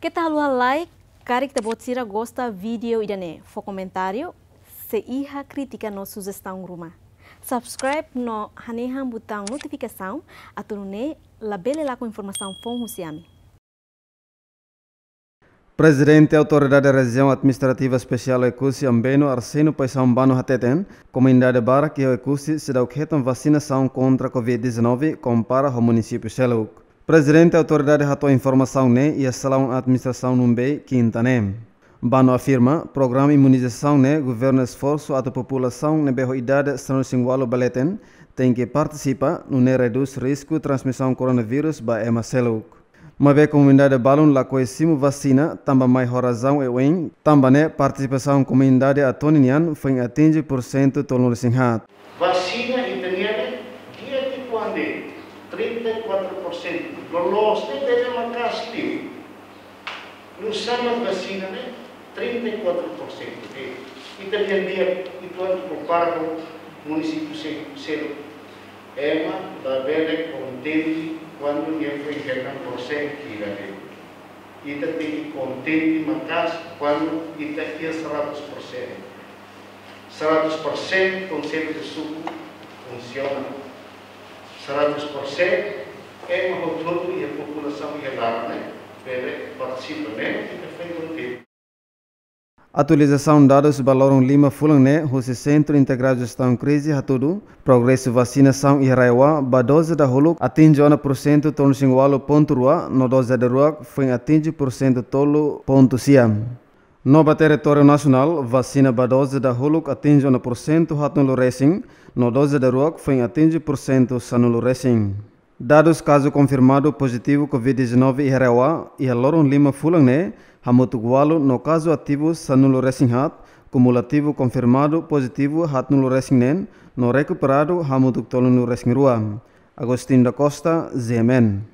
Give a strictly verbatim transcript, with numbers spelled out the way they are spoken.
Keta haluha like, karik ita-boot sira gosta vídeo ida-ne'e, fó komentáriu, se iha krítika no sujestaun ruma. Subscribe no hanehan butaun notifikasaun, atu nune'e labele lakon informasaun foun husi ami. Prezidente Autoridade Rejiaun Administrativa Espesiál Oekusi Ambeno, Arsénio Paixão Bano hateten, komunidade barak iha Oekusi seidauk hetan vasinasaun kontra covid dezanove kompara ho munisípiu seluk. Prezidente Autoridade hato'o informasaun ne'e iha salaun administrasaun Numbei, kinta ne'e. Bano afirma, programa imunizasaun ne'e governu esforsu atu populasaun ne'ebé ho idade sanulu-resin-ualu ba leten tenke partisipa, nune'e redús risku transmisaun koronavírus ba ema seluk. Maibé komunidade balun lakohi simu vasina, tanba mai ho razaun oioin, tanba ne'e partisipasaun komunidade Atoni nian foin atinje porsentu tolunulu-resin-haat. Vasina ita-nian ne'e di'ak uitoan de'it, trinta e quatro por cento. Loloos ne'e bele maka'as liu. Nusá mak vasina ne'e trinta e quatro por cento de'it. Ita-nian di'ak uitoan kompara ho munisípiu se-, seluk. Ema labele kontente kuandu nia foin hetan porsen hira de'it. Ita tenke kontente maka'as kuandu ita iha seratus persen. Seratus persen Konsellu de Suku funsiona. Seratus persen ema hotu-hotu iha populasaun iha laran ne'e bele partisipa, ne'e ita foin kontente. Atualizasaun dadus ba loron lima fulan ne'e husi Sentru Integradu Jestaun Krize hatudu, progresu vasinasaun iha RAEOA ba doze dahuluk atinje ona porsentu tolunulu-resin-ualu pontu rua, no doze daruak foin atinje porsentu tolu pontu sia. No ba territóriu nasionál, vasina ba doze dahuluk atinje ona porsentu haatnulu-resin, no doze daruak foin atinje porsentu sanulu-resin. Dadus kazu konfirmadu pozitivu covid dezanove iha RAEOA iha loron lima fulan ne'e hamutuk ualu, no kazu ativu sanulu-resin-haat, kumulativu konfirmadu pozitivu haatnulu-resin-neen, no rekuperadu hamutuk tolunulu-resin-rua. Agostinho da Costa, G M N.